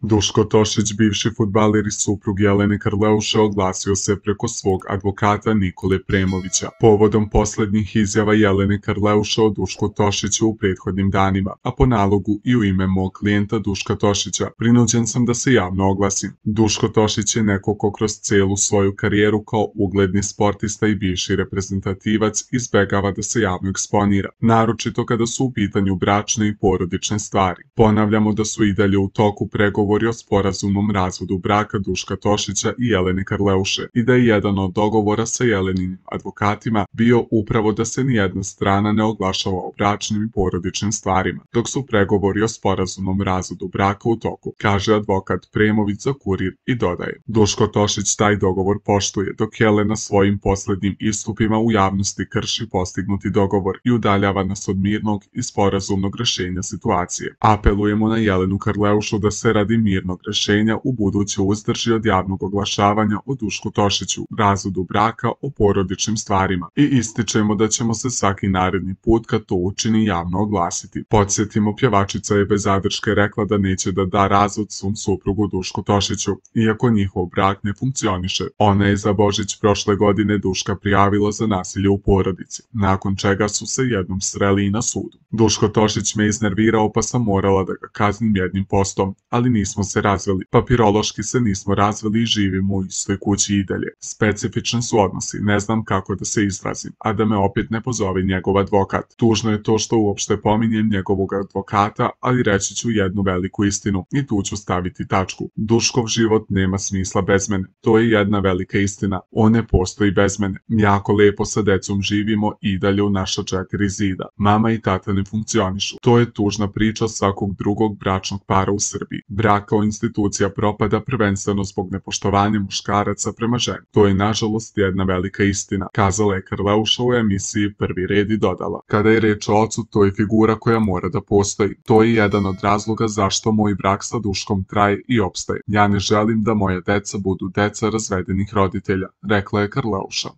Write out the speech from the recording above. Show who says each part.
Speaker 1: Duško Tošić, bivši fudbaler i suprug Jelene Karleuše, oglasio se preko svog advokata Nikole Premovića povodom poslednjih izjava Jelene Karleuše o Dušku Tošiću u prethodnim danima, a po nalogu i u ime mog klijenta Duška Tošića prinuđen sam da se javno oglasim. Duško Tošić je neko ko kroz celu svoju karijeru kao ugledni sportista i bivši reprezentativac izbegava da se javno eksponira, naročito kada su u pitanju bračne i porodične stvari. Ponavljamo da su i dalje u toku pregovori o sporazumnom razvodu braka Duška Tošića i Jelene Karleuše i da je jedan od dogovora sa Jeleninim advokatima bio upravo da se nijedna strana ne oglašava o bračnim i porodičnim stvarima, dok su pregovori o sporazumnom razvodu braka u toku, kaže advokat Premović za Kurir i dodaje. Duško Tošić taj dogovor poštuje, dok Jelena svojim poslednjim istupima u javnosti krši postignuti dogovor i udaljava nas od mirnog i sporazumnog rešenja situacije. Apelujemo na Jelenu Karleušu da se radi mirnog rešenja u buduće uzdrži od javnog oglašavanja o Dušku Tošiću, razvodu braka, o porodičnim stvarima i ističemo da ćemo se svaki naredni put kad to učini javno oglasiti. Podsjetimo, pjevačica je bez zadrške rekla da neće da da razvod svom suprugu Dušku Tošiću, iako njihov brak ne funkcioniše. Ona je za Božić prošle godine Duška prijavila za nasilje u porodici, nakon čega su se jednom sreli i na sudu. Duško Tošić me iznervirao pa sam morala da ga kaznim jednim postom, ali nismo se razveli. Papirološki se nismo razveli i živimo u istoj kući i dalje. Specifični su odnosi, ne znam kako da se izrazim, a da me opet ne pozove njegov advokat. Tužno je to što uopšte pominjem njegovog advokata, ali reći ću jednu veliku istinu i tu ću staviti tačku. Duškov život nema smisla bez mene. To je jedna velika istina. On ne postoji bez mene. Jako lepo sa decom živimo i dalje u naša 4 zida. Mama i tata ne funkcionišu. To je tužna priča svakog drugog bračnog para u Srbiji. Brak kao institucija propada prvenstveno zbog nepoštovanja muškaraca prema ženi. To je nažalost jedna velika istina, kazala je Karleuša u emisiji Prvi red i dodala. Kada je reč o ocu, to je figura koja mora da postoji. To je jedan od razloga zašto moj brak sa Duškom traje i opstaje. Ja ne želim da moja deca budu deca razvedenih roditelja, rekla je Karleuša.